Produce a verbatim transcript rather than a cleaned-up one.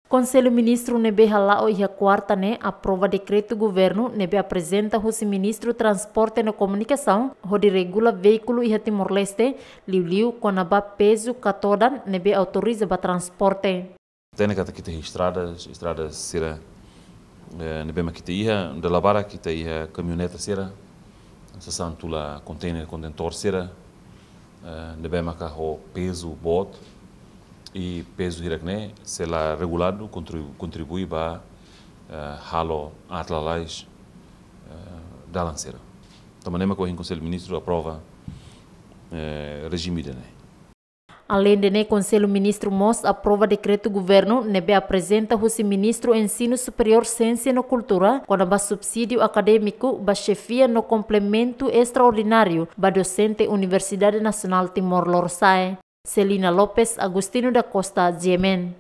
Konsellu Ministru ne'ebé hala'o iha kuarta ne'e aprova dekretu governu ne'ebé aprezenta husi Ministru Transporte no Komunikasaun hodi regula veíkulu iha Timor-Leste, liuliu kona-ba pezu ka todan ne'ebé autoriza ba transporte. Hatene katak ita iha estradas, estradas sira, eh, ne'ebé mak ita iha, dala barak ita iha kamioneta sira, sasán tula konteiner, kontentór sira, eh, ne'ebé maka ho pezu boot, i pezu hirak ne'e, se la reguladu, kontribu-, kontribui ba, eh, halo aat lalais, eh, dalan sira. Tanba ne'e mak ohin Konsellu Ministru aprova, eh, rejime ida-ne'e. Aleinde ne'e, Konsellu Ministru mós aprova dekretu governu ne'ebé aprezenta husi Ministru Ensinu Superiór, Siénsia no Kultura, kona-ba subsídiu akadémiku ba xefia no komplementu estraordináriu ba dosente Universidade Nasionál Timor Lorosa'e. Celina Lopes, Agostinho da Costa, G M N.